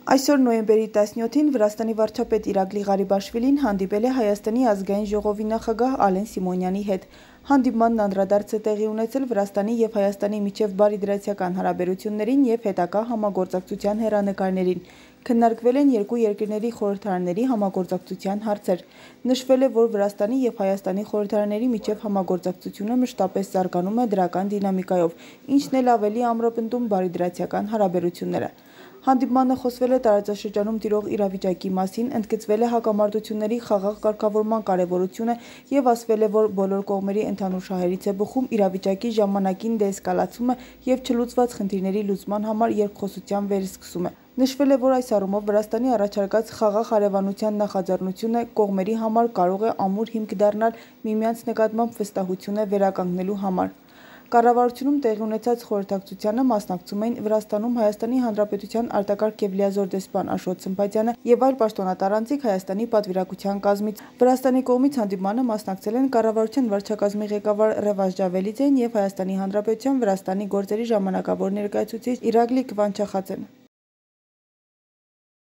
Այսօր նոյեմբերի 17-ին Վրաստանի վարչապետ Իրակլի Ղարիբաշվիլին հանդիպել է Հայաստանի ազգային ժողովի նախագահ Ալեն Սիմոնյանի հետ։ Հանդիպմանն անդրադարձ է տեղի ունեցել Վրաստանի և Հայաստանի միջև բարիդրացիական հարաբերություններին և հետագա համագործակցության հեռանկարներին։ Քննարկվել են երկու երկրների խորհրդարանների համագործակցության հարցեր։ Նշվել է, որ Վրաստանի և Հայաստանի խորհրդարանների միջև համագործակցությունը մշտապես զարգանում է դրական դինամիկայով, ինչն էլ ավելի ամրապնդում բարիդրացիական հարաբերությունները։ Հանդիպմանը խոսվել է տարածաշրջանում տիրող իրավիճակի մասին, ընդգծվել է հակամարտությունների խաղաղ կարգավորման կարևորությունը և ասվել է, որ բոլոր կողմերի ընդհանուր շահերից է բխում իրավիճակի ժամանակին դեէսկալացումը և չլուծված խնդիրների լուծման համար երկխոսության վերսկսումը։ Նշվել է, որ այս առումով Վրաստանի առաջարկած խաղաղ հարևանության նախաձեռնությունը կողմերի համար կարող է ամուր հիմք դառնալ միմյանց նկատմամբ վստահությունը վերականգնելու համար։ Կառավարությունում տեղի ունեցած խորհրդակցությանը մասնակցում էին Վրաստանում Հայաստանի Հանրապետության արտակարգ և լիազոր դեսպան Աշոտ Սմբատյանը և այլ պաշտոնատար անձինք Հայաստանի պատվիրակության կազմից։ Վրաստանի կողմից հանդիպմանը մասնակցել են կառավարության վարչակազմի ղեկավար Ռեվազ Ջավելիձեն և Հայաստանի Հանրապետության Վրաստանի գործերի ժամանակավոր ներկայացուցիչ Իրակլի Քվանչախաձեն։